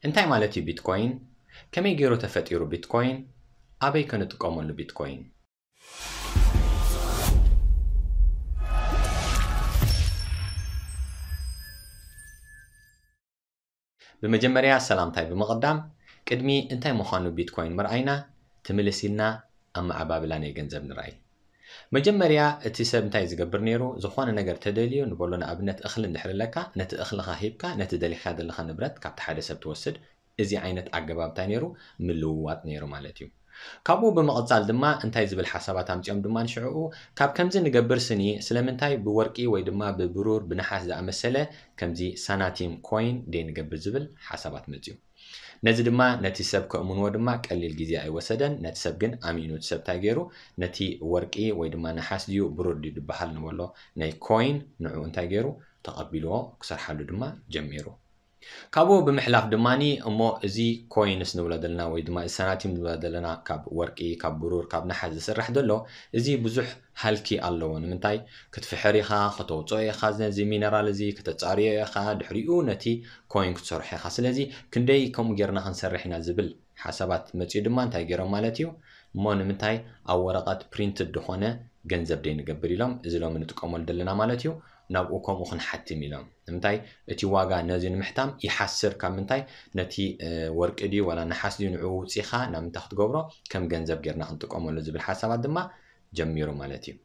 እንታይ ማለት እዩ ቢትኮይን? ከመይ ገይሩ ተፈጢሩ ቢትኮይን? ኣበይ ከንጥቀመሉ ቢትኮይን? ብመጀመርያ ሰላምታይ ብምቕዳም፣ ቅድሚ እንታይ ምዃኑ ቢትኮይን ምርኣይና፣ ትምልስ ኢልና ኣመዓባብላ ናይ ገንዘብ ንርኣይ። መጀመርያ እቲ ሰብ እንታይ ዝገብር ነይሩ? ዝኾነ ነገር ተደልዩ፣ ንበሎ ንኣብነት እኽሊ እንድሕር ኣለካ፣ ነቲ እኽልኻ ሂብካ ነቲ ደሊኻ ዘለኻ ንብረት ካብቲ ሓደ ሰብ ትወስድ። እዚ ዓይነት ኣገባብ እንታይ ነይሩ? ምልውዋጥ ነይሩ ማለት እዩ። ካብኡ ብምቕጻል ድማ እንታይ ዝብል ሓሳባት ኣምጺኦም ድማ ንሽዕኡ፣ ካብ ከምዚ ንገብር ስኒ ስለምንታይ ብወርቂ ወይ ድማ ብብሩር ብነሓስ ዝኣመሰለ ከምዚ ሳናቲም ኮይን ደይ ንገብር ዝብል ሓሳባት መጽዩ። ነዚ ድማ ነቲ ሰብ ከእምንዎ ድማ ቀሊል ግዜ ኣይወሰደን። ነቲ ሰብ ግን ኣሚኑ እቲ ሰብ እንታይ ገይሩ? ነቲ ወርቂ ወይ ድማ ነሓስ ድዩ ብሩር ድዩ ዝበሃል ንበሎ ናይ ኮይን ንዕኡ እንታይ ገይሩ? ተቐቢልዎ ክሰርሓሉ ድማ ጀሚሩ። ካብኡ ብምሕላፍ ድማኒ እሞ እዚ ኮይንስ ንብሎ ዘለና ወይ ድማ እዚ ሳናቲም ንብሎ ዘለና ካብ ወርቂ፣ ካብ ብሩር፣ ካብ ነሓስ ዝስራሕ ዘሎ እዚ ብዙሕ ሃልኪ ኣለዎ። ንምንታይ? ክትፍሕር ኢኻ፣ ከተውፅኦ ኢኻ፣ ነዚ ሚነራል እዚ ከተፃርዮ ኢኻ፣ ድሕሪኡ ነቲ ኮይን ክትሰርሖ ኢኻ። ስለዚ ክንደይ ከምኡ ጌርና ክንሰርሕ ኢና ዝብል ሓሳባት መፅኡ ድማ እንታይ ገይሮም ማለት እዩ? እሞ ንምንታይ ኣብ ወረቐት ፕሪንትድ ዝኾነ ገንዘብ ደይ ንገብር ኢሎም እዚ ሎሚ ንጥቀመሉ ዘለና ማለት እዩ። ናብኡ ከምኡ ክንሓትም ኢሎም። ንምንታይ? እቲ ዋጋ ነዚ ንምሕታም ይሓስር። ካብ ምንታይ? ነቲ ወርቂ ድዩ ዋላ ነሓስ ድዩ ንዕኡ ውፂኻ ናብ ምንታይ ክትገብሮ ከም ገንዘብ ጌርና ክንጥቀመሉ ዝብል ሓሳባት ድማ ጀሚሩ ማለት እዩ።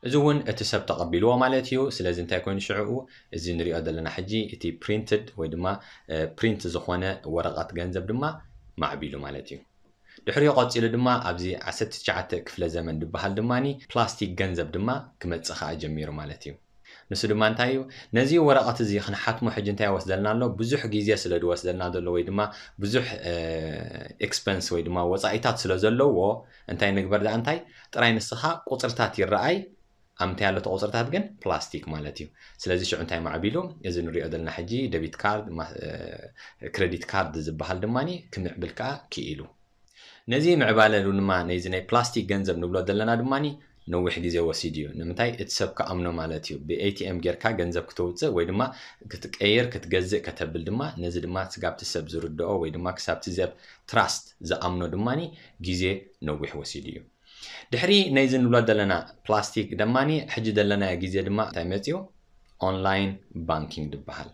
እዚ እውን እቲ ሰብ ተቐቢልዎ ማለት እዩ። ስለዚ እንታይ ኮይኑ ሽዕኡ እዚ ንሪኦ ዘለና ሕጂ እቲ ፕሪንትድ ወይ ድማ ፕሪንት ዝኾነ ወረቐት ገንዘብ ድማ ማዕቢሉ ማለት እዩ። ድሕሪኡ ቀፂሉ ድማ ኣብዚ ዓሰርተ ትሽዓተ ክፍለ ዘመን ዝበሃል ድማ ፕላስቲክ ገንዘብ ድማ ክመፅእ ከዓ ጀሚሩ ማለት እዩ። ንሱ ድማ እንታይ እዩ? ነዚ ወረቐት እዚ ክንሓትሞ ሕጂ እንታይ ይወስደልና ኣሎ? ብዙሕ ግዜ ስለ ዝወስደልና ዘሎ ወይ ድማ ብዙሕ ኤክስፐንስ ወይ ድማ ወፃኢታት ስለ ዘለዎ እንታይ ንግበር ደኣ እንታይ ጥራይ ንስኻ ቁፅርታት ይረኣይ ኣብ እንታይ ኣሎ እቲ ቁፅርታት ግን ፕላስቲክ ማለት እዩ። ስለዚ ሽዑ እንታይ ማዕቢሉ? እዚ ንሪኦ ዘለና ሕጂ ደቢት ካርድ፣ ክሬዲት ካርድ ዝበሃል ድማ ክምዕብል ከዓ ክኢሉ። ነዚ ምዕባለ ድማ ነዚ ናይ ፕላስቲክ ገንዘብ ንብሎ ዘለና ድማ ነዊሕ ግዜ ወሲዱ እዩ። ንምንታይ? እቲ ሰብ ክኣምኖ ማለት እዩ። ብኤቲኤም ጌርካ ገንዘብ ክተውፅእ ወይ ድማ ክትቀይር ክትገዝእ ከተብል ድማ ነዚ ድማ ክሳብቲ ሰብ ዝርድኦ ወይ ድማ ክሳብቲ ሰብ ትራስት ዝኣምኖ ድማ ግዜ ነዊሕ ወሲዱ እዩ። ድሕሪ ነዚ ንብሎ ዘለና ፕላስቲክ ደማኒ ሕጂ ዘለናዮ ግዜ ድማ እንታይ መፅዩ? ኦንላይን ባንኪንግ ዝበሃል።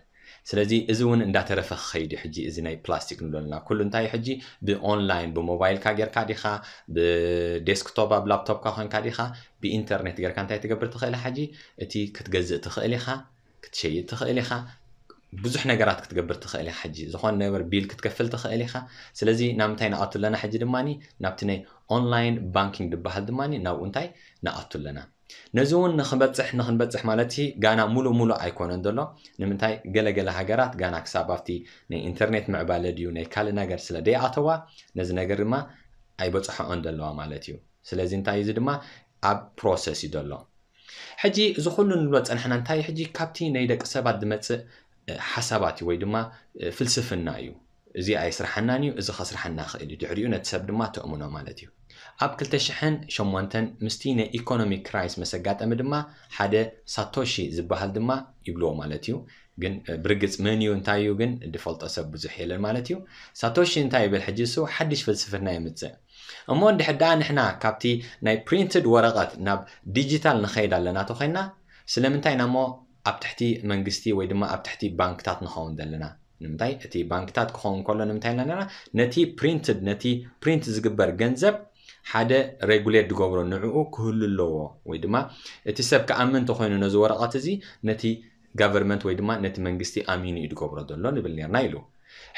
ስለዚ እዚ እውን እንዳተረፈ ክኸይድ እዩ። ሕጂ እዚ ናይ ፕላስቲክ ንብሎ ዘለና ኩሉ እንታይ እዩ? ሕጂ ብኦንላይን ብሞባይልካ ጌርካ ዲኻ፣ ብዴስክቶፕ ኣብ ላፕቶፕካ ኮንካ ዲኻ፣ ብኢንተርኔት ጌርካ እንታይ ትገብር ትኽእል ኢኻ? ሕጂ እቲ ክትገዝእ ትኽእል ኢኻ፣ ክትሸይጥ ትኽእል ኢኻ፣ ብዙሕ ነገራት ክትገብር ትኽእል ኢኻ። ሕጂ ዝኾነ ነገር ቢል ክትከፍል ትኽእል ኢኻ። ስለዚ ናብ ምንታይ ንኣቱ ኣለና? ሕጂ ድማ ናብቲ ናይ ኦንላይን ባንኪንግ ዝበሃል ድማ ናብኡ እንታይ ንኣቱ ኣለና። ነዚ እውን ንክንበፅሕ ንክንበፅሕ ማለት ሲ ጋና ሙሉ ሙሉ ኣይኮነን ዘሎ። ንምንታይ? ገለገለ ሃገራት ጋና ክሳብ ኣብቲ ናይ ኢንተርኔት ምዕባለ ድዩ ናይ ካልእ ነገር ስለ ደይኣተዋ ነዚ ነገር ድማ ኣይበፅሐኦን ዘለዋ ማለት እዩ። ስለዚ እንታይ እዚ ድማ ኣብ ፕሮሰስ እዩ ዘሎ። ሕጂ እዚ ኩሉ ንብሎ ፀናሕና እንታይ ሕጂ ካብቲ ናይ ደቂ ሰባት ዝመፅእ ሓሳባት እዩ ወይ ድማ ፍልስፍና እዩ። እዚ ኣይስርሓናን እዩ፣ እዚ ከስርሓና ክእል እዩ። ድሕሪኡ ነቲ ሰብ ድማ ተእምኖ ማለት እዩ። ኣብ ክልተ ሽሕን ሸሞንተን ምስቲ ናይ ኢኮኖሚክ ክራይስ መሰጋጠሚ ድማ ሓደ ሳቶሺ ዝበሃል ድማ ይብልዎ ማለት እዩ። ግን ብርግፅ መን እዩ እንታይ እዩ ግን ዝፈልጦ ሰብ ብዙሕ የለን ማለት እዩ። ሳቶሺ እንታይ ይብል ሕጂ እሱ ሓድሽ ፍልስፍና የምፅእ። እሞ እንድሕር ደኣ ንሕና ካብቲ ናይ ፕሪንትድ ወረቐት ናብ ዲጂታል ንኸይድ ኣለና ተኾይንና ስለምንታይ ኢና እሞ ኣብ ትሕቲ መንግስቲ ወይ ድማ ኣብ ትሕቲ ባንክታት ንኸውን ዘለና? ንምንታይ እቲ ባንክታት ክኸውን ከሎ ንምንታይ ኣለና ነቲ ፕሪንትድ ነቲ ፕሪንት ዝግበር ገንዘብ ሓደ ሬጉሌት ዝገብሮ ንዕኡ ክህሉ ኣለዎ ወይ ድማ እቲ ሰብ ክኣምን እንተኮይኑ ነዚ ወረቐት እዚ ነቲ ጋቨርመንት ወይ ድማ ነቲ መንግስቲ ኣሚኑ እዩ ዝገብሮ ዘሎ ንብል ነርና ኢሉ።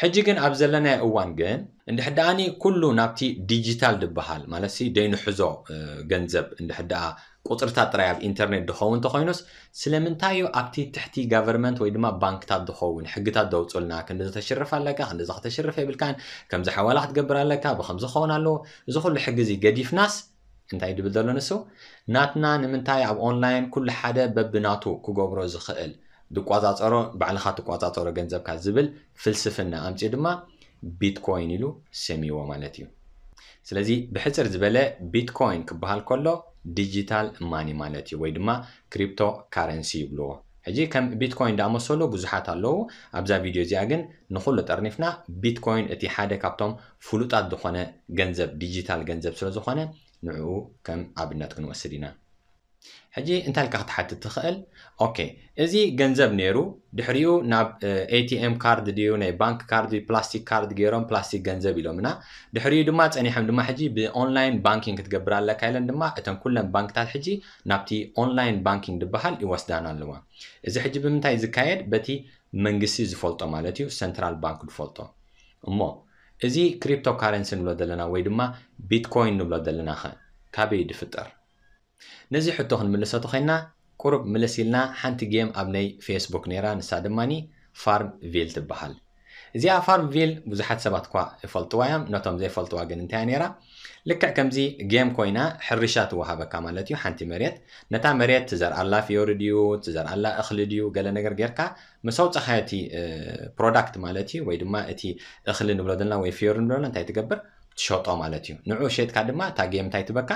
ሕጂ ግን ኣብ ዘለናዮ እዋን ግን እንድሕር ደኣኒ ኩሉ ናብቲ ዲጂታል ዝበሃል ማለት ሲ ደይንሕዞ ገንዘብ እንድሕር ደኣ ቁፅርታት ጥራይ ኣብ ኢንተርኔት ዝኸውን እንተኮይኑስ ስለምንታይ እዩ ኣብቲ ትሕቲ ጋቨርመንት ወይ ድማ ባንክታት ዝኸውን ሕግታት ዘውፅልና ክንዲ ተሽርፍ ኣለካ ክንዲ ከተሽርፍ የብልካን ከምዚ ሓዋላ ክትገብር ኣለካ ብከምዚ ክኸውን ኣለዎ እዚ ኩሉ ሕጊ እዚ ገዲፍናስ እንታይ ድብል ዘሎ ንሱ ናትና ንምንታይ ኣብ ኦንላይን ኩሉ ሓደ በብናቱ ክገብሮ ዝኽእል ድቋፃፀሮ ባዕልኻ ትቋፃፀሮ ገንዘብካ ዝብል ፍልስፍና ኣምፅኡ ድማ ቢትኮይን ኢሉ ሰሚዎ ማለት እዩ። ስለዚ ብሕፅር ዝበለ ቢትኮይን ክበሃል ከሎ ዲጂታል ማኒ ማለት እዩ ወይ ድማ ክሪፕቶ ካረንሲ ይብልዎ። ሕጂ ከም ቢትኮይን ዝኣመሰሉ ብዙሓት ኣለዉ። ኣብዛ ቪድዮ እዚኣ ግን ንኹሉ ጠርኒፍና ቢትኮይን እቲ ሓደ ካብቶም ፍሉጣት ዝኾነ ገንዘብ፣ ዲጂታል ገንዘብ ስለ ዝኾነ ንዕኡ ከም ኣብነት ክንወስድ ኢና። ሕጂ እንታይ ኢልካ ክትሓትት ትኽእል? ኦኬ፣ እዚ ገንዘብ ነይሩ፣ ድሕሪኡ ናብ ኤቲኤም ካርድ ድዩ፣ ናይ ባንክ ካርድ ድዩ፣ ፕላስቲክ ካርድ ገይሮም ፕላስቲክ ገንዘብ ኢሎምና። ድሕሪኡ ድማ ጸኒሖም ድማ ሕጂ ብኦንላይን ባንኪንግ ክትገብር ኣለካ ኢለን ድማ እተን ኩለን ባንክታት ሕጂ ናብቲ ኦንላይን ባንኪንግ ዝበሃል ይወስዳና ኣለዋ። እዚ ሕጂ ብምንታይ ዝካየድ? በቲ መንግስቲ ዝፈልጦ ማለት እዩ፣ ሰንትራል ባንክ ዝፈልጦ። እሞ እዚ ክሪፕቶ ካረንሲ ንብሎ ዘለና ወይ ድማ ቢትኮይን ንብሎ ዘለና ኸ ካበይ ድፍጠር? ነዚ ሕቶ ክንምልሰ ተኾይንና ቁሩብ ምልስ ኢልና ሓንቲ ጌም ኣብ ናይ ፌስቡክ ነይራ፣ ንሳ ድማኒ ፋርም ቪል ትበሃል። እዚኣ ፋርም ቪል ብዙሓት ሰባት እኳ ይፈልጥዋ እዮም፣ ነቶም ዘይፈልጥዋ ግን እንታይ እያ ነይራ? ልክዕ ከምዚ ጌም ኮይና ሕርሻ ትወሃበካ ማለት እዩ። ሓንቲ መሬት፣ ነታ መሬት ትዘርኣላ ፍዮሪ ድዩ፣ ትዘርኣላ እኽሊ ድዩ፣ ገለ ነገር ጌርካ ምስ ኣውጻኻዮ እቲ ፕሮዳክት ማለት እዩ፣ ወይ ድማ እቲ እኽሊ ንብሎ ዘለና ወይ ፍዮሪ ንብሎ ዘለና እንታይ ትገብር? ትሸጦ ማለት እዩ። ንዑ ሸጥካ ድማ እታ ጌም እንታይ ትበካ?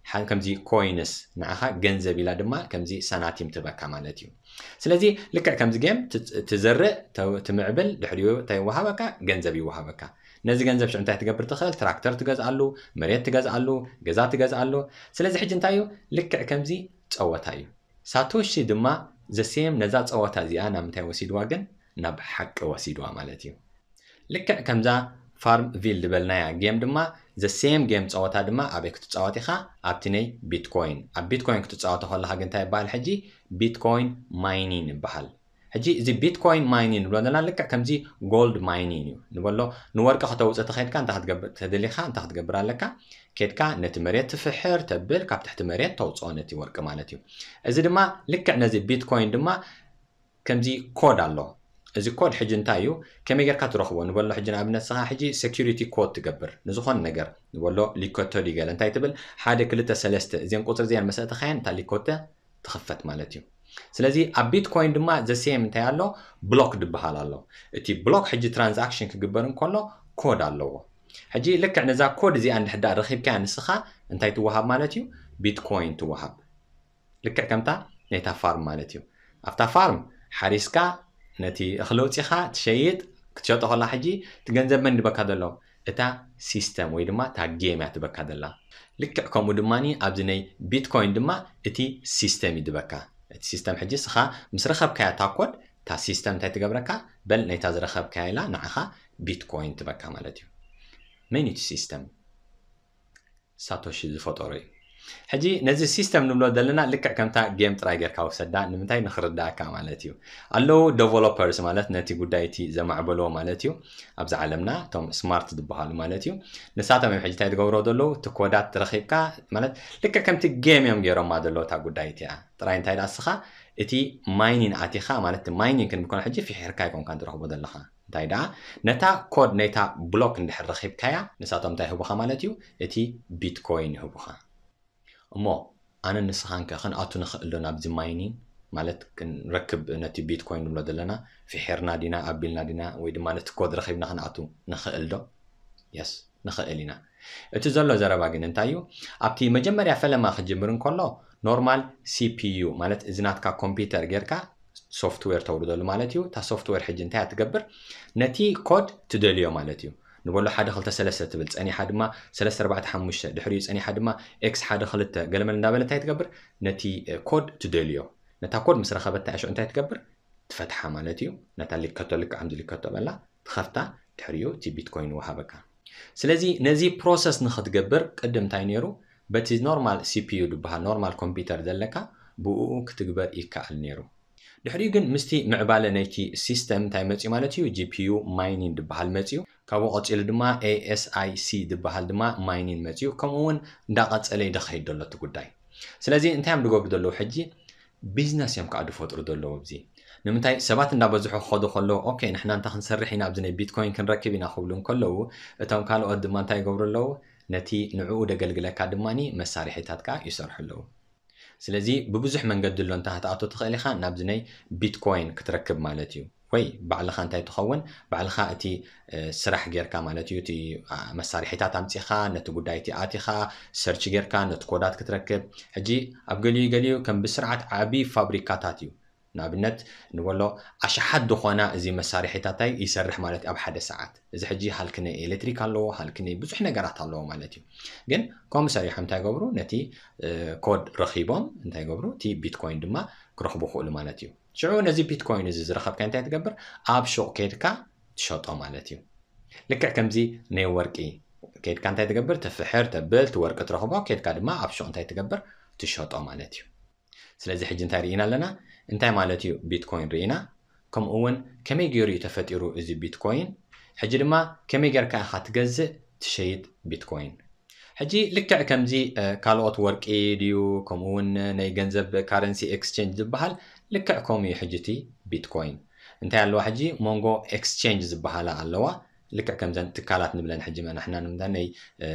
ሓ- ከምዚ ኮይንስ ንዓኻ ገንዘብ ኢላ ድማ ከምዚ ሰናቲም ትበካ ማለት እዩ። ስለዚ ልክዕ ከምዚ ጌም ት- ትዘርእ፣ ተ- ትምዕብል፣ ድሕሪኡ እንታይ ይወሃበካ? ገንዘብ ይወሃበካ። ነዚ ገንዘብ ሽዑ እንታይ ትገብር ትኽእል? ትራክተር ትገዝኣሉ፣ መሬት ትገዝኣሉ፣ ገዛ ትገዝኣሉ። ስለዚ ሕጂ እንታይ እዩ? ልክዕ ከምዚ ጸወታ እዩ። ሳቶሺ ድማ ዘሴም ነዛ ጸወታ እዚኣ ናብ ምንታይ ወሲድዋ ግን? ናብ ሓቂ ወሲድዋ ማለት እዩ። ልክዕ ከምዛ ፋርም ቪል ዝበልናያ ጌም ድማ ዘሴም ጌም ጸወታ ድማ ኣበይ ክትጻወት ኢኻ? ኣብቲ ናይ ቢትኮይን። ኣብ ቢትኮይን ክትጻወቶ ከለኻ ግን እንታይ ይበሃል ሕጂ? ቢትኮይን ማይኒን ይበሃል። ሕጂ እዚ ቢትኮይን ማይኒን ንብሎ ዘለና ልክዕ ከምዚ ጎልድ ማይኒን እዩ ንበሎ። ንወርቂ ከተውፅእ ተኸይድካ እንታይ ክትገብር ተደሊኻ እንታይ ክትገብር ኣለካ? ኬድካ ነቲ መሬት ትፍሕር ተብል፣ ካብ ትሕቲ መሬት ተውፅኦ ነቲ ወርቂ ማለት እዩ። እዚ ድማ ልክዕ ነዚ ቢትኮይን ድማ ከምዚ ኮድ ኣሎ። እዚ ኮድ ሕጂ እንታይ እዩ? ከመይ ጌርካ ትረኽቦ ንበሎ። ሕጂ ንኣብነት ንስኻ ሕጂ ሴኩሪቲ ኮድ ትገብር ንዝኾነ ነገር ንበሎ፣ ሊከቶ ድዩ ገለ እንታይ ትብል፣ ሓደ ክልተ ሰለስተ እዚን ቁፅሪ እዚኣን መሰእተኻየን እታ ሊኮተ ትኽፈት ማለት እዩ። ስለዚ ኣብ ቢትኮይን ድማ ዘሴም እንታይ ኣሎ? ብሎክ ድበሃል ኣሎ። እቲ ብሎክ ሕጂ ትራንዛክሽን ክግበር እንከሎ ኮድ ኣለዎ። ሕጂ ልክዕ ነዛ ኮድ እዚኣ እንድሕር ደኣ ረኺብካያ ንስኻ እንታይ ትወሃብ ማለት እዩ? ቢትኮይን ትወሃብ። ልክዕ ከምታ ናይታ ፋርም ማለት እዩ። ኣብታ ፋርም ሓሪስካ ነቲ እኽሊ ኣውፂኻ ትሸይጥ፣ ክትሸጦ ከላ ሕጂ እቲ ገንዘብ መን ድበካ ዘሎ? እታ ሲስተም ወይ ድማ እታ ጌም እያ ትበካ ዘላ። ልክዕ ከምኡ ድማ ኣብዚ ናይ ቢትኮይን ድማ እቲ ሲስተም እዩ ድበካ። እቲ ሲስተም ሕጂ ስኻ ምስ ረኸብካያ እታ ኮድ እታ ሲስተም እንታይ ትገብረካ? በል ናይታ ዝረኸብካያ ኢላ ንዓኻ ቢትኮይን ትበካ ማለት እዩ። መን እዩ እቲ ሲስተም? ሳቶሺ ዝፈጠሮ እዩ። ሕጂ ነዚ ሲስተም ንብሎ ዘለና ልክዕ ከምታ ጌም ጥራይ ጌርካ ውሰዳ፣ ንምንታይ ንኽርዳእካ ማለት እዩ። ኣለዉ ዴቨሎፐርስ ማለት ነቲ ጉዳይ እቲ ዘማዕበልዎ ማለት እዩ። ኣብዚ ዓለምና እቶም ስማርት ዝበሃሉ ማለት እዩ። ንሳቶም እዮም ሕጂ እንታይ ዝገብሮ ዘለዉ? እቲ ኮዳት ረኺብካ ማለት ልክዕ ከምቲ ጌም እዮም ገይሮማ ዘለዉ እታ ጉዳይ እቲኣ። ጥራይ እንታይ ደኣ እስኻ እቲ ማይኒን ኣቲኻ ማለት ማይኒን ክንብል ከሎ ሕጂ ፍሒርካ ኣይኮንካን ትረኽቦ ዘለኻ። እንታይ ደኣ ነታ ኮድ ናይታ ብሎክ እንድሕር ረኺብካያ ንሳቶም እንታይ ይህቡኻ ማለት እዩ? እቲ ቢትኮይን ይህቡኻ። እሞ ኣነ ንስኻንከ ክንኣቱ ንኽእል ዶ ናብዚ ማይኒን ማለት ክንረክብ ነቲ ቢትኮይን ንብሎ ዘለና ፍሒርና ዲና ኣቢልና ዲና ወይ ድማ ነቲ ኮድ ረኺብና ክንኣቱ ንኽእል ዶ? የስ ንኽእል ኢና። እቲ ዘሎ ዘረባ ግን እንታይ እዩ? ኣብቲ መጀመርያ ፈለማ ክጅምር እንከሎ ኖርማል ሲፒዩ ማለት እዚ ናትካ ኮምፒውተር ጌርካ ሶፍትዌር ተውርደሉ ማለት እዩ። እታ ሶፍትዌር ሕጂ እንታይ እያ ትገብር? ነቲ ኮድ ትደልዮ ማለት እዩ። ንበሎ ሓደ ክልተ ሰለስተ ትብል ጸኒሓ ድማ ሰለስተ ኣርባዕተ ሓሙሽተ ድሕሪኡ ጸኒሓ ድማ ኤክስ ሓደ ክልተ ገለመለ እንዳበለ እንታይ ትገብር? ነቲ ኮድ ትደልዮ። ነታ ኮድ ምስ ረኸበታ እያ ሽዑ እንታይ ትገብር? ትፈትሓ ማለት እዩ። ነታ ሊከቶ ልክዕ ከምዚ ሊከቶ በላ ትኸፍታ፣ ድሕሪኡ እቲ ቢትኮይን ይወሃበካ። ስለዚ ነዚ ፕሮሰስ ንኽትገብር ቅድም እንታይ ነይሩ? በቲ ኖርማል ሲፒዩ ዝበሃል ኖርማል ኮምፒውተር ዘለካ ብእኡ ክትግበር ይከኣል ነይሩ። ድሕሪኡ ግን ምስቲ ምዕባለ ናይቲ ሲስተም እንታይ መፅዩ ማለት እዩ? ጂፒዩ ማይኒን ዝበሃል መፅዩ። ካብኡ ቀፂሉ ድማ ኤኤስኣይሲ ዝበሃል ድማ ማይኒን መፅዩ። ከምኡ እውን እንዳቐፀለ ይደኸይድ ዘሎ እቲ ጉዳይ። ስለዚ እንታይ እዮም ዝገብሩ ዘለዉ ሕጂ? ቢዝነስ እዮም ከዓ ዝፈጥሩ ዘለዉ ኣብዚ። ንምንታይ ሰባት እንዳበዝሑ ክኸዱ ከለዉ ኦኬ ንሕና እንታይ ክንሰርሕ ኢና ኣብዚ ናይ ቢትኮይን ክንረክብ ኢና ክብሉ እንከለዉ እቶም ካልኦት ድማ እንታይ ይገብሩ ኣለዉ? ነቲ ንዕኡ ደገልግለካ ድማ መሳርሒታት ከዓ ይሰርሑ ኣለዉ። ስለዚ ብብዙሕ መንገዲ ኣሎ እንተ ክትኣቱ ትኽእል ኢኻ ናብዚ ናይ ቢትኮይን ክትረክብ ማለት እዩ። ወይ ባዕልኻ እንታይ ትኸውን ባዕልኻ እቲ ስራሕ ጌርካ ማለት እዩ እቲ መሳርሒታት ኣምፂኻ ነቲ ጉዳይ እቲ ኣቲኻ ሰርች ጌርካ ነቲ ኮዳት ክትረክብ። ሕጂ ኣብ ገሊኡ ገሊኡ ከም ብስርዓት ዓብዪ ፋብሪካታት እዩ ንኣብነት ንበሎ ኣሽሓት ዝኾና እዚ መሳርሒታታይ ይሰርሕ ማለት ኣብ ሓደ ሰዓት። እዚ ሕጂ ሃልኪ ናይ ኤሌክትሪክ ኣለዎ፣ ሃልኪ ናይ ብዙሕ ነገራት ኣለዎ ማለት እዩ። ግን ከምኡ ሰሪሖም እንታይ ገብሩ? ነቲ ኮድ ረኺቦም እንታይ ገብሩ? እቲ ቢትኮይን ድማ ክረኽቡ ክእሉ ማለት እዩ። ሽዑ ነዚ ቢትኮይን እዚ ዝረኸብካ እንታይ ትገብር? ኣብ ሹቕ ከድካ ትሸጦ ማለት እዩ። ልክዕ ከምዚ ናይ ወርቂ ከድካ እንታይ ትገብር? ትፍሕር፣ ተብል፣ ትወርቂ ትረኽቦ፣ ከድካ ድማ ኣብ ሹቕ እንታይ ትገብር? ትሸጦ ማለት እዩ። ስለዚ ሕጂ እንታይ ርኢና ኣለና? እንታይ ማለት እዩ ቢትኮይን ርኢና፣ ከምኡ እውን ከመይ ገይሩ እዩ ተፈጢሩ እዚ ቢትኮይን፣ ሕጂ ድማ ከመይ ጌርካ ኢኻ ትገዝእ ትሸይጥ ቢትኮይን። ሕጂ ልክዕ ከምዚ ካልኦት ወርቂ ድዩ፣ ከምኡ እውን ናይ ገንዘብ ካረንሲ ኤክስቼንጅ ዝበሃል፣ ልክዕ ከምኡ እዩ። ሕጂ እቲ ቢትኮይን እንታይ ኣለዋ? ሕጂ መንጎ ኤክስቼንጅ ዝበሃላ ኣለዋ። ልክዕ ከምዘን ትካላት ንብለን ሕጂ መናሕና ንምንታይ ናይ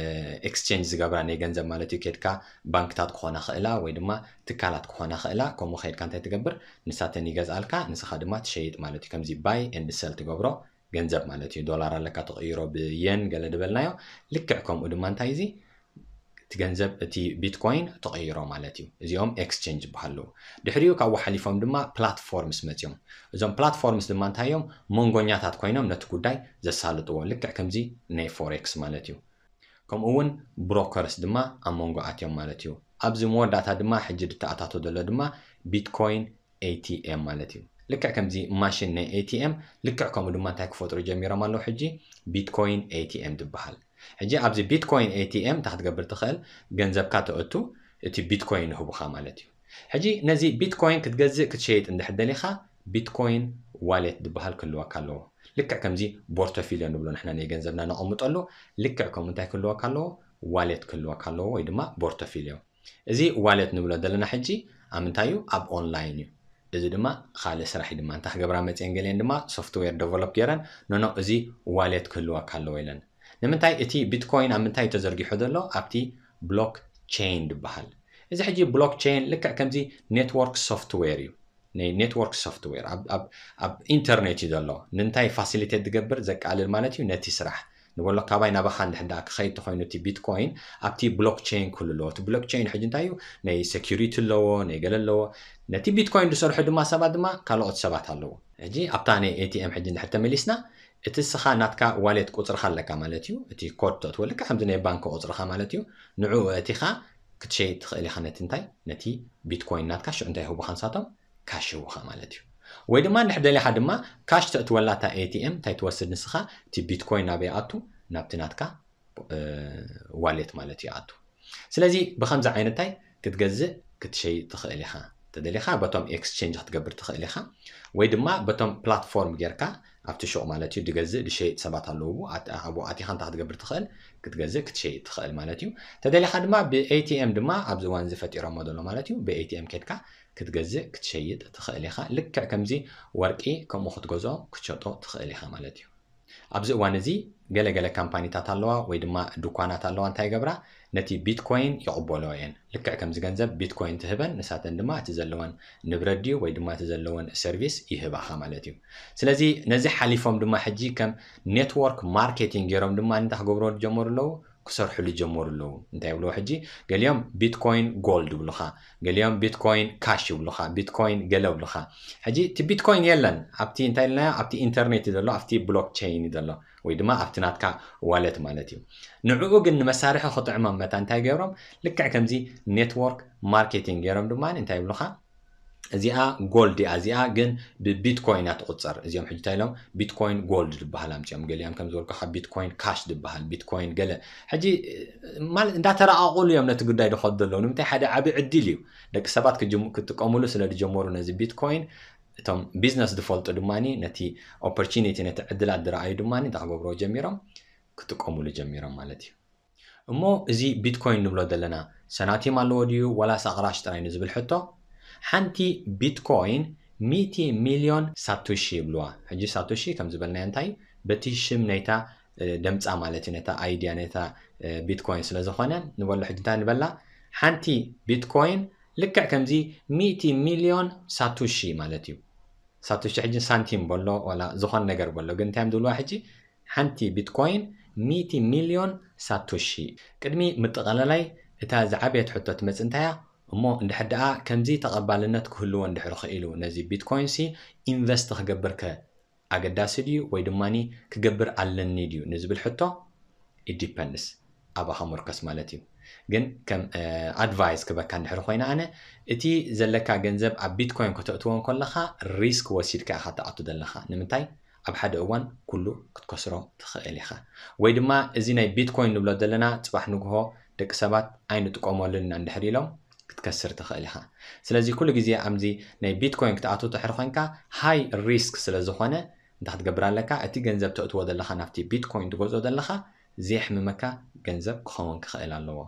ኤክስቼንጅ ዝገብራ ናይ ገንዘብ ማለት እዩ። ከድካ ባንክታት ክኾና ክእላ ወይ ድማ ትካላት ክኾና ክእላ። ከምኡ ከድካ እንታይ ትገብር? ንሳተን ይገዝኣልካ፣ ንስኻ ድማ ትሸይጥ ማለት እዩ። ከምዚ ባይ ኤንድ ሰል ትገብሮ ገንዘብ ማለት እዩ። ዶላር ኣለካ ትቕይሮ ብየን ገለ ድበልናዮ። ልክዕ ከምኡ ድማ እንታይ እዚ እቲ ገንዘብ እቲ ቢትኮይን ትቕይሮ ማለት እዩ። እዚኦም ኤክስቼንጅ ይበሃሉ። ድሕሪኡ ካብኡ ሓሊፎም ድማ ፕላትፎርምስ መፅዮም። እዞም ፕላትፎርምስ ድማ እንታይ እዮም? መንጎኛታት ኮይኖም ነቲ ጉዳይ ዘሳልጥዎ፣ ልክዕ ከምዚ ናይ ፎሬክስ ማለት እዩ። ከምኡ እውን ብሮከርስ ድማ ኣብ መንጎ ኣትዮም ማለት እዩ። ኣብዚ መወዳእታ ድማ ሕጂ ድተኣታቶ ዘሎ ድማ ቢትኮይን ኤቲኤም ማለት እዩ። ልክዕ ከምዚ ማሽን ናይ ኤቲኤም ልክዕ ከምኡ ድማ እንታይ ክፈጥሩ ጀሚሮም ኣለዉ? ሕጂ ቢትኮይን ኤቲኤም ትበሃል። ሕጂ ኣብዚ ቢትኮይን ኤቲኤም እንታይ ክትገብር ትኽእል? ገንዘብካ ተእቱ፣ እቲ ቢትኮይን ይህቡኻ ማለት እዩ። ሕጂ ነዚ ቢትኮይን ክትገዝእ ክትሸይጥ እንድሕር ደሊኻ ቢትኮይን ዋሌት ዝበሃል ክህልወካ ኣለዎ። ልክዕ ከምዚ ቦርቶፊልዮ ንብሎ ንሕና ናይ ገንዘብና ነቐምጠሉ፣ ልክዕ ከምኡ እንታይ ክህልወካ ኣለዎ? ዋሌት ክህልወካ ኣለዎ ወይ ድማ ቦርቶፊልዮ። እዚ ዋሌት ንብሎ ዘለና ሕጂ ኣብ ምንታይ እዩ? ኣብ ኦንላይን እዩ። እዚ ድማ ካልእ ስራሕ እዩ ድማ። እንታይ ክገብራ መፅየን ገሊአን ድማ ሶፍትዌር ደቨሎፕ ገይረን፣ ኖኖ እዚ ዋሌት ክህልወካ ኣለዎ ኢለን። ንምንታይ? እቲ ቢትኮይን ኣብ ምንታይ እዩ ተዘርጊሑ ዘሎ? ኣብቲ ብሎክ ቼይን ዝበሃል። እዚ ሕጂ ብሎክ ቼይን ልክዕ ከምዚ ኔትወርክ ሶፍትዌር እዩ። ናይ ኔትወርክ ሶፍትዌር ኣብ ኢንተርኔት እዩ ዘሎ። ንምንታይ? ፋሲሊቴት ዝገብር ዘቃልል ማለት እዩ ነቲ ስራሕ ንበሎ ካባይ ናባኻ እንድሕር ደኣ ክኸይድ ተኾይኑ እቲ ቢትኮይን ኣብቲ ብሎክቸይን ክህሉ ኣለዎ። እቲ ብሎክቸይን ሕጂ እንታይ እዩ? ናይ ሴኪሪቲ ኣለዎ፣ ናይ ገለ ኣለዎ። ነቲ ቢትኮይን ዝሰርሑ ድማ ሰባት ድማ ካልኦት ሰባት ኣለዎ። ሕጂ ኣብታ ናይ ኤቲኤም ሕጂ እንድሕር ተመሊስና እቲ ስኻ ናትካ ዋሌት ቁፅርኻ ኣለካ ማለት እዩ። እቲ ኮድ ተእትወልካ ከምዚ ናይ ባንክ ቁፅርኻ ማለት እዩ። ንዕኡ እቲኻ ክትሸይጥ ትኽእል ኢኻ ነቲ እንታይ ነቲ ቢትኮይን ናትካ ሽዑ እንታይ ይህቡኻ ንሳቶም ካሽ ይህቡኻ ማለት እዩ። ወይ ድማ እንድሕር ደሊኻ ድማ ካሽ ተእትወላ እታ ኤቲኤም እንታይ ትወስድ ንስኻ እቲ ቢትኮይን ናበይ ኣቱ ናብቲ ናትካ ዋሌት ማለት እዩ ኣቱ። ስለዚ ብከምዚ ዓይነት እንታይ ክትገዝእ ክትሸይጥ ትኽእል ኢኻ። ተደሊኻ በቶም ኤክስቼንጅ ክትገብር ትኽእል ኢኻ ወይ ድማ በቶም ፕላትፎርም ጌርካ ኣብቲ ሹቕ ማለት እዩ ድገዝእ ድሸይጥ ሰባት ኣለዉ። ኣብኡ ኣቲኻ እንታይ ክትገብር ትኽእል ክትገዝእ ክትሸይጥ ትኽእል ማለት እዩ። ተደሊኻ ድማ ብኤቲኤም ድማ ኣብዚ እዋን እዚ ፈጢሮሞ ዘሎ ማለት እዩ ብኤቲኤም ኬድካ ክትገዝእ ክትሸይጥ ትኽእል ኢኻ። ልክዕ ከምዚ ወርቂ ከምኡ ክትገዝኦ ክትሸጦ ትኽእል ኢኻ ማለት እዩ። ኣብዚ እዋን እዚ ገለገለ ካምፓኒታት ኣለዋ ወይ ድማ ድኳናት ኣለዋ እንታይ ይገብራ ነቲ ቢትኮይን ይቕበሎ እየን። ልክዕ ከምዚ ገንዘብ ቢትኮይን ትህበን ንሳተን ድማ እቲ ዘለወን ንብረት ድዩ ወይ ድማ እቲ ዘለወን ሰርቪስ ይህባኻ ማለት እዩ። ስለዚ ነዚ ሓሊፎም ድማ ሕጂ ከም ኔትወርክ ማርኬቲንግ ገይሮም ድማ እንታይ ክገብሩ ዝጀመሩ ኣለዉ ክሰርሕሉ ጀመሩ ኣለዉ። እንታይ ይብልዎ ሕጂ ገሊኦም ቢትኮይን ጎልድ ይብሉኻ፣ ገሊኦም ቢትኮይን ካሽ ይብሉኻ፣ ቢትኮይን ገለ ይብሉኻ። ሕጂ እቲ ቢትኮይን የለን ኣብቲ እንታይ ኢልናዮ ኣብቲ ኢንተርኔት እዩ ዘሎ ኣብቲ ብሎክቸይን እዩ ዘሎ ወይ ድማ ኣብቲ ናትካ ዋለት ማለት እዩ። ንዕኡ ግን ንመሳርሒ ክጥዕሞም መታ እንታይ ገይሮም ልክዕ ከምዚ ኔትወርክ ማርኬቲንግ ገይሮም ድማ እንታይ ይብሉኻ እዚኣ ጎልድ እያ እዚኣ ግን ብቢትኮይን እያ ትቁፀር። እዚኦም ሕጂ እንታይ ኢሎም ቢትኮይን ጎልድ ዝበሃል ኣምፅኦም ገሊኦም ከም ዝበልኩ ካብ ቢትኮይን ካሽ ዝበሃል ቢትኮይን ገለ ሕጂ ማለት እንዳተረቃቁሉ እዮም ነቲ ጉዳይ ዝኸዱ ዘለዉ ንምንታይ ሓደ ዓብዪ ዕድል እዩ ደቂ ሰባት ክጥቀሙሉ ስለ ዝጀመሩ ነዚ ቢትኮይን እቶም ቢዝነስ ዝፈልጡ ድማ ነቲ ኦፖርቹኒቲ ነቲ ዕድላት ዝረኣዩ ድማ እንታይ ክገብርዎ ጀሚሮም ክጥቀሙሉ ጀሚሮም ማለት እዩ። እሞ እዚ ቢትኮይን ንብሎ ዘለና ሰናቲም ኣለዎ ድዩ ዋላስ ኣቕራሽ ጥራይ ንዝብል ሕቶ ሓንቲ ቢትኮይን ሚእቲ ሚልዮን ሳቶሺ ይብልዋ። ሕጂ ሳቶሺ ከም ዝበልናዮ እንታይ በቲ ሽም ናይታ ደምፃ ማለት እዩ ነታ ኣይድያ ነታ ቢትኮይን ስለ ዝኾነ ንበሎ ሕጂ እንታይ ንበላ ሓንቲ ቢትኮይን ልክዕ ከምዚ ሚእቲ ሚልዮን ሳቶሺ ማለት እዩ። ሳቶሺ ሕጂ ሳንቲም በሎ ዋላ ዝኾነ ነገር በሎ ግን እንታይ እዮም ዝብልዋ ሕጂ ሓንቲ ቢትኮይን ሚእቲ ሚልዮን ሳቶሺ። ቅድሚ ምጥቐለላይ እታ ዝዓበየት ሕቶ ትመጽእ እንታያ እሞ እንድሕር ደኣ ከምዚ ተቐባልነት ክህልዎ እንድሕር ኽኢሉ ነዚ ቢትኮይን ሲ ኢንቨስት ክገብር ከ ኣገዳሲ ድዩ ወይ ድማ ክገብር ኣለኒ ድዩ ንዝብል ሕቶ it depends ኣባኻ ምርከስ ማለት እዩ። ግን ከም ኣድቫይስ ክበካ እንድሕር ኮይነ ኣነ እቲ ዘለካ ገንዘብ ኣብ ቢትኮይን ከተእትዎ እንከለኻ ሪስክ ወሲድካ ኢኻ ትኣቱ ዘለኻ። ንምንታይ ኣብ ሓደ እዋን ኩሉ ክትከስሮ ትኽእል ኢኻ። ወይ ድማ እዚ ናይ ቢትኮይን ንብሎ ዘለና ጽባሕ ንግሆ ደቂ ሰባት ኣይንጥቀመሉን ኢና እንድሕር ኢሎም ክትከስር ትኽእል ኢኻ። ስለዚ ኩሉ ግዜ ኣብዚ ናይ ቢትኮይን ክትኣቱ ትሕር ኮይንካ ሃይ ሪስክ ስለ ዝኾነ እንታይ ክትገብር ኣለካ? እቲ ገንዘብ ተእትዎ ዘለኻ ናብቲ ቢትኮይን ትገዝኦ ዘለኻ ዘየሕምመካ ገንዘብ ክኸውን ክኽእል ኣለዎ።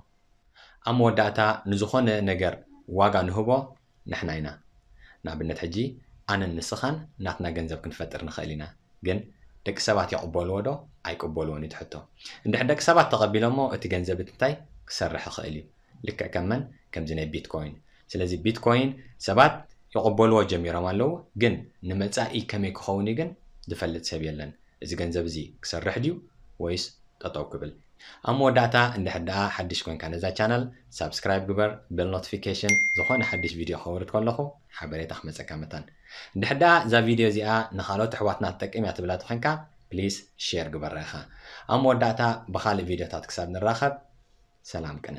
ኣብ መወዳእታ ንዝኾነ ነገር ዋጋ ንህቦ ንሕና ኢና። ንኣብነት ሕጂ ኣነን ንስኻን ናትና ገንዘብ ክንፈጥር ንኽእል ኢና። ግን ደቂ ሰባት ይቕበልዎ ዶ ኣይቅበልዎን እዩ እቲ ሕቶ። እንድሕር ደቂ ሰባት ተቐቢሎሞ እቲ ገንዘብ እቲ እንታይ ክሰርሕ ይኽእል እዩ። ልክዕ ከም መን ከምዚ ናይ ቢትኮይን። ስለዚ ቢትኮይን ሰባት ይቕበልዎ ጀሚሮም ኣለዉ፣ ግን ንመጻኢ ከመይ ክኸውን እዩ ግን ዝፈልጥ ሰብ የለን። እዚ ገንዘብ እዚ ክሰርሕ ድዩ ወይስ ጠጠው ክብል? ኣብ መወዳእታ እንድሕር ደኣ ሓድሽ ኮንካ ነዛ ቻናል ሳብስክራይብ ግበር፣ ቤል ኖቲፊኬሽን ዝኾነ ሓድሽ ቪድዮ ከውርድ ከለኹ ሓበሬታ ክመጸካ መታን። እንድሕር ደኣ እዛ ቪድዮ እዚኣ ንኻልኦት ኣሕዋትና ትጠቅም እያ ትብላ ተኾንካ ፕሊስ ሼር ግበራ ኢኻ። ኣብ መወዳእታ ብኻልእ ቪድዮታት ክሳብ ንራኸብ ሰላም ቅነ።